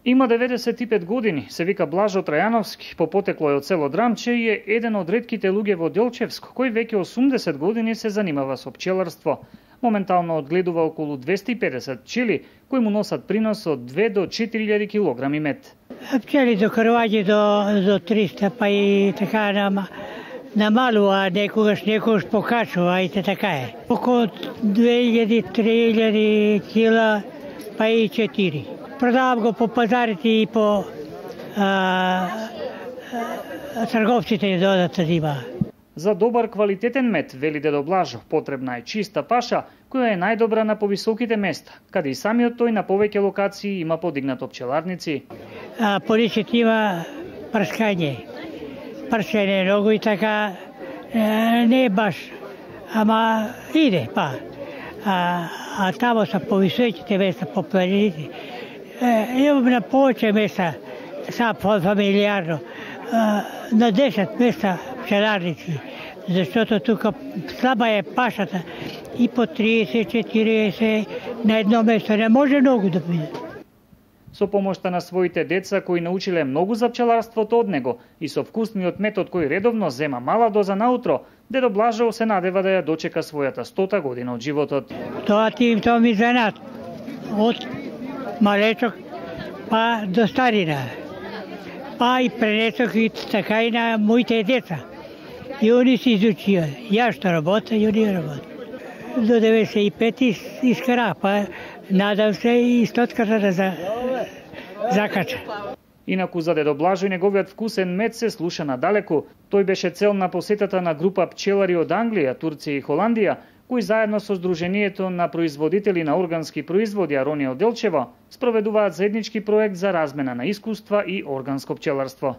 Има 95 години, се вика Блажо Трајановски, по потекло е од село Драмче и е еден од ретките луѓе во Делчевско, кој веќе 80 години се занимава со пчеларство. Моментално одгледува околу 250 пчели, кои му носат принос од 2 до 4000 килограми мед. Пчели до крваѓи до 300, па и така намалува, некогаш покачува, и така е. Околу 2000-3000 кила, па и 4. Продавам го по пазарите и по трговците додат да има. За добар квалитетен мед, вели дедо Блажо, потребна е чиста паша, која е најдобра на повисоките места, каде и самиот тој на повеќе локации има подигнато пчеларници. Поличет има прскање. Прскање многу и така не е баш, ама иде, па. А тамо са повисоките места, по планините. Имам на повеќе места, са фамилиарно, на 10 места пчеларници, зашто тука слаба е пашата и по 30-40 на едно место не може многу да биде. Со помошта на своите деца кои научиле многу за пчеларството од него и со вкусниот метод кој редовно зема мала доза наутро, дедо Блажо се надева да ја дочека својата 100-та година од животот. Тоа ми занат од малечок па до старина. Па и пренесох и така и на моите деца. И они се изучија. Ја што работа, и они работа. До 95 искара, па надам се и 100-ката да закача. Инаку за дедо Блажо и неговиот вкусен мед се слуша надалеку. Тој беше цел на посетата на група пчелари од Англија, Турција и Холандија, кои заедно со Сдруженијето на производители на органски производи Аронија од Делчево спроведуваат заеднички проект за размена на искуства и органско пчеларство.